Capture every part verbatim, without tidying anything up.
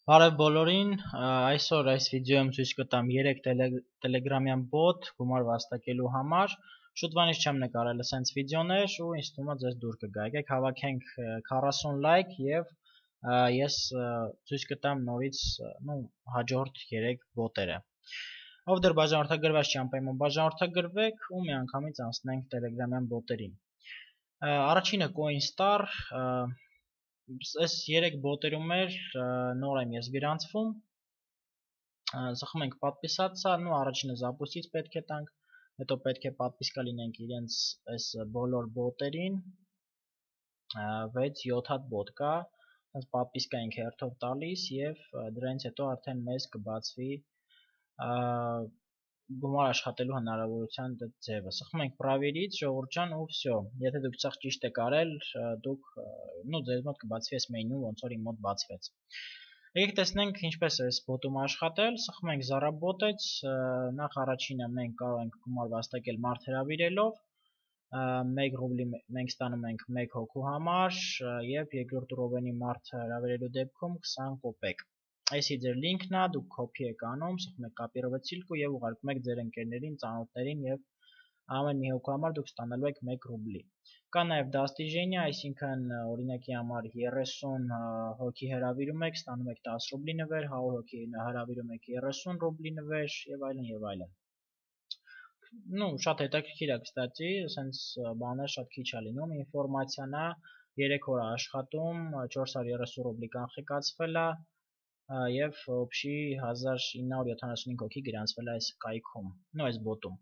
Բարև բոլորին, այսօր այս վիդեոյում ցույց կտամ երեք տելեգրամյան բոտ գումար վաստակելու համար։ Շուտվանից չեմ նկարել ասենց վիդեոներ ու ինձ թվում է ձեզ դուր կգա։ Եկեք հավաքենք քառասուն լայք եւ ես ցույց կտամ նորից նու հաջորդ երեք բոտերը։ Ով դեռ բաժանորդագրված չի, անպայման բաժանորդագրվեք ու միանգամից անցնենք տելեգրամյան բոտերին։ Առաջինը Coinstar, այս երեք բոտերում էր նոր եմ ես գրանցվում, ծխում ենք պատպիսացա, նու առաջինը զապուստից պետք է տանք, հետո պետք է պատպիսկա լինենք իրենց այս բոլոր բոտերին, վեց յոթ հատ բոտ կա, պատպիսկա ենք հերթով տալիս և դրանից հետո արդեն մեզ կբացվի գումար աշխատելու հնարավորության ձևը։ Սխում ենք պրավերից, ժողովուրդ ջան, ու վсё։ Եթե դուք սխ ճիշտ եք արել, դուք նու ձեզ մոտ կբացվի այս մենյուն, ոնց որ իմ մոտ բացվեց։ Եկեք տեսնենք ինչպես է այս բոտում աշխատել։ Սխում ենք Zarabotets, նախ առաջինը մենք կարող ենք գումար վաստակել մարդ հրավիրելով, մեկ ռուբլի մենք ստանում ենք մեկ հոգու համար եւ երկրորդ ռովենի մարդ հրավիրելու դեպքում քսան կոպեկ։ Այսի ձեր լինքն է, դուք կոպի եք անում, սխում եք կոպիրovat ссылку եւ ուղարկում եք ձեր ընկերներին, ծանոթներին եւ ամեն մի հոգու համար դուք ստանալու եք մեկ ռուբլի։ Կա նաեւ դաստիժենիա, այսինքն օրինակի համար երեսուն հոգի հրավիրում եք, ստանում եք տասը ռուբլի նվեր, հարյուր հոգի հրավիրում եք երեսուն ռուբլի նվեր եւ այլն եւ այլն։ Նու շատ հետաքրքիր է, կստացի, ասենց բաներ շատ քիչ է լինում, ինֆորմացիան է, երեք օր աշխատում, չորս հարյուր երեսուն ռուբլի կանխիկացվել է եւ օբշի հազար ինը հարյուր յոթանասունհինգ հոգի գրանցվել է այս կայքում, նո այս բոտում։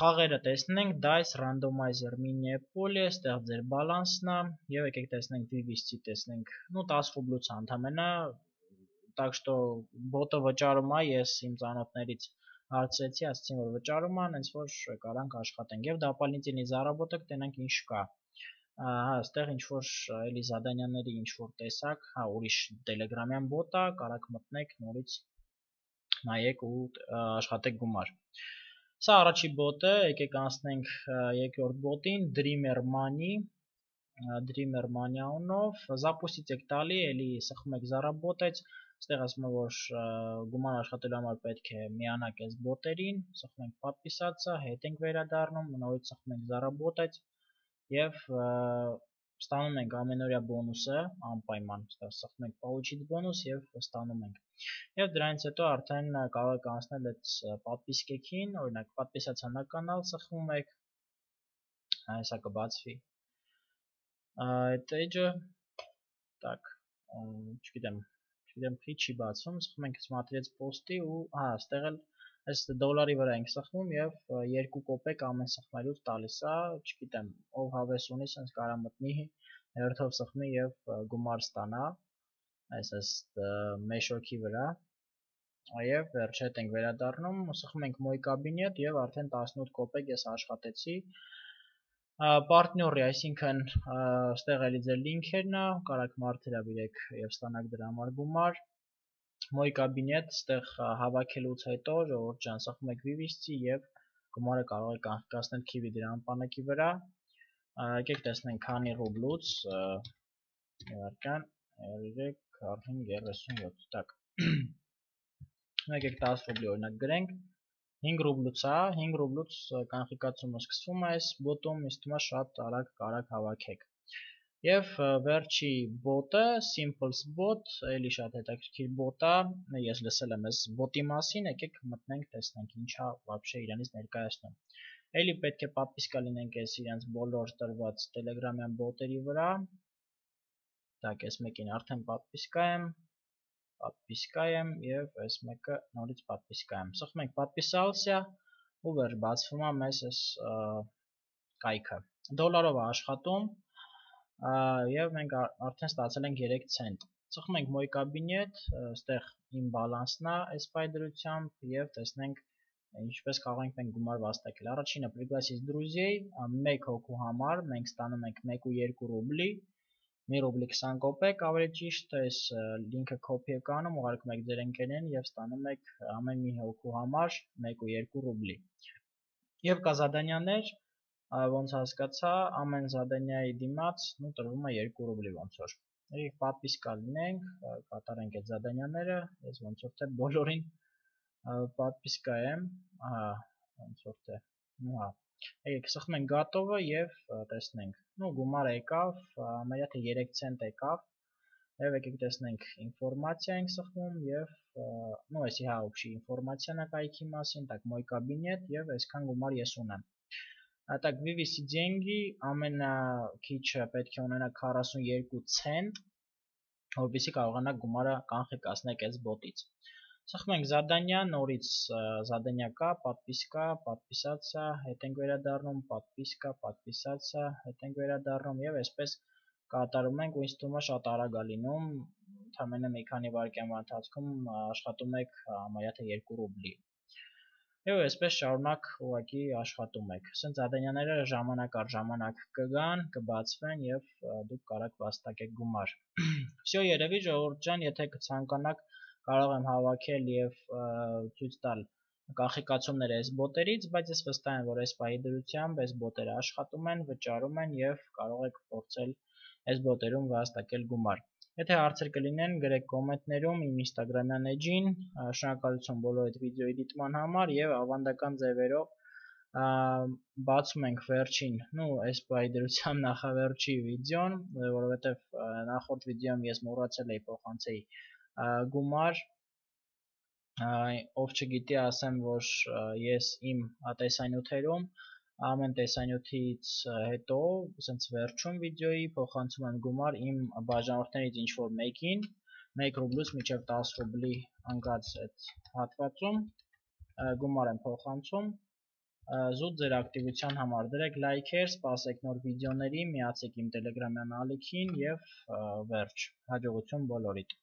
Խաղերը տեսնենք, Dice, Randomizer, Mini-Poly, այստեղ ձեր բալանսն է եւ եկեք տեսնենք վիվիսցի տեսնենք, նու տասը ռուբլուց ընդամենը, так что բոտը վճարում է, ես իմ ծանոթներից հարցրեցի, ասացին որ վճարում է, հենց որ կարանք աշխատենք եւ дополнительный заработок տենանք ինչ կա։ Հա, այստեղ ինչ որ էլի զադանյաների ինչ որ տեսակ, հա, ուրիշ տելեգրամյան բոտ է, կարաք մտնեք նորից նայեք ու աշխատեք գումար։ Սա առաջի բոտը, եկեք անցնենք երկրորդ բոտին, Dreamer Money, Dreamer Money անունով, զապուստից եք տալի, էլի սխում եք Zarabotets, այստեղ ասում է որ գումար աշխատելու համար պետք է միանաք այս բոտերին, սխում ենք պատպիսացա, հետ ենք վերադառնում, նորից սխում ենք Zarabotets եւ ստանում ենք ամենօրյա բոնուսը, անպայման, այստեղ սխում ենք получить բոնուս եւ ստանում ենք։ Եվ դրանից հետո արդեն կարող եք անցնել այդ պատպիսկեքին, օրինակ պատպիսացա на канал սխում եք, հեսա կբացվի։ Այդ էջը, так, չգիտեմ, չգիտեմ քիչ չի բացվում, սխում ենք смотреть post-ի ու հա, այստեղ էլ այս դոլարի վրա ենք սխվում եւ երկու կոպեկ ամեն սխմելուց տալիս է, չգիտեմ, ով հավես ունի, sense կարա մտնի հերթով սխմի եւ գումար ստանա, այս այս մեշոքի վրա։ Եվ վերջ հետ ենք վերադառնում, սխում ենք Moy Cabinet եւ արդեն տասնութ կոպեկ ես աշխատեցի։ Պարտների, այսինքն այստեղ էլի ձեր լինքերն է, կարաք մարդ հրավիրեք եւ ստանաք դրա համար գումար։ Moy Cabinet, այստեղ հավաքելուց հետո ժողովուրդ ջան, սխում եք վիվիսցի եւ գումարը կարող եք կանխիկացնել Kiwi դրամապանակի վրա։ Եկեք տեսնենք քանի ռուբլուց, իհարկան երեք, քառորդ, երեսունյոթ, так։ Եկեք տասը ռուբլի օրինակ գրենք, հինգ ռուբլուց է, հինգ ռուբլուց կանխիկացումը սկսվում է այս բոտում, ինձ թվում է շատ արագ կարաք հավաքեք։ Եվ վերջի բոտը, Simples Bot, էլի շատ հետաքրքիր բոտ է, ես լսել եմ այս բոտի մասին, եկեք մտնենք, տեսնենք ինչա вообще իրանից ներկայացնում։ Էլի պետք է պատպիսկա լինենք այս իրենց բոլոր տրված տելեգրամյան բոտերի վրա։ Так, այս մեկին արդեն պատպիսկա եմ, պատպիսկա եմ եւ այս մեկը նորից պատպիսկա եմ։ Սխում ենք պատպիսալսիա ու վերջ բացվում է մեզ այս կայքը։ Դոլարով է աշխատում եւ մենք արդեն ստացել ենք երեք ցենտ։ Սխում ենք Moy Cabinet, այստեղ իմ բալանսն է այս պայդրությամբ եւ տեսնենք ինչպես կարող ենք մենք գումար վաստակել։ Առաջինը пригласить друзей, մեկ հոգու համար մենք ստանում ենք մեկ ու երկու ռուբլի, մի ռուբլի քսան կոպեկ, ավելի ճիշտ, այս լինքը copy եք անում, ուղարկում եք ձեր ընկերներին եւ ստանում եք ամեն մի հոգու համար մեկ ու երկու ռուբլի։ Եվ կա զադանյաներ, ոնց հասկացա, ամեն զադանյայի դիմաց նու տրվում է երկու ռուբլի ոնց որ։ Եկեք պատվիսկա լինենք, կատարենք այդ զադանյաները, ես ոնց որ թե բոլորին պատվիսկա եմ, ահա, ոնց որ թե, ну հա։ Եկեք սխմենք գոտովը եւ տեսնենք։ Ну գումարը եկավ, ամենա թե երեք ցենտ եկավ։ Եվ եկեք տեսնենք ինֆորմացիա ենք սխմում եւ ну էսի հա общий ինֆորմացիան է կայքի մասին, так мой кабинет եւ այսքան գումար ես ունեմ։ Так вывести деньги ամենաքիչը պետք է ունենա քառասունյոթ ցենտ, որպեսզի կարողանաք գումարը կանխիկացնել այս բոտից։ Սխմենք задание, նորից задание կա, подписка, подписаться, հետ ենք վերադառնում, подписка, подписаться, հետ ենք վերադառնում եւ այսպես կատարում ենք, ու ինձ թվում է շատ արագ է լինում, ընդամենը մի քանի վայրկյան ընթացքում աշխատում եք համարյա թե երկու ռուբլի։ Եվ այսպես շարունակ ուղղակի աշխատում եք։ Ասենց zadanyaները ժամանակ առ ժամանակ կգան, կբացվեն եւ դուք կարող վաստակեք գումար։ Всё, երևի ժողովուրդ ջան, եթե կցանկանաք կարող եմ հավաքել եւ ցույց տալ կանխիկացումներ այս բոտերից, բայց ես վստահ եմ, որ այս պահի դրությամբ այս բոտերը աշխատում են, վճարում են եւ կարող եք փորձել այս բոտերում վաստակել գումար։ Եթե հարցեր կլինեն, գրեք կոմենտներում իմ Instagram-յան էջին, շնորհակալություն բոլոր այդ վիդեոյի դիտման համար եւ ավանդական ձևերով բացում ենք վերջին, ну, այս պահի դրությամբ նախավերջի վիդեոն, որովհետեւ նախորդ վիդեոյում ես մոռացել էի փոխանցեի գումար, ով չգիտի ասեմ, որ ես իմ տեսանյութերում ամեն տեսանյութից հետո, ասենց վերջում վիդեոյի փոխանցում եմ գումար իմ բաժանորդներից ինչ որ մեկին, մեկ ռուբլուց մինչև տասը ռուբլի ընկած այդ հատվածում գումար եմ փոխանցում, զուտ ձեր ակտիվության համար դրեք լայքեր, սպասեք նոր վիդեոների, միացեք իմ Telegram-յան ալիքին եւ վերջ, հաջողություն բոլորիդ։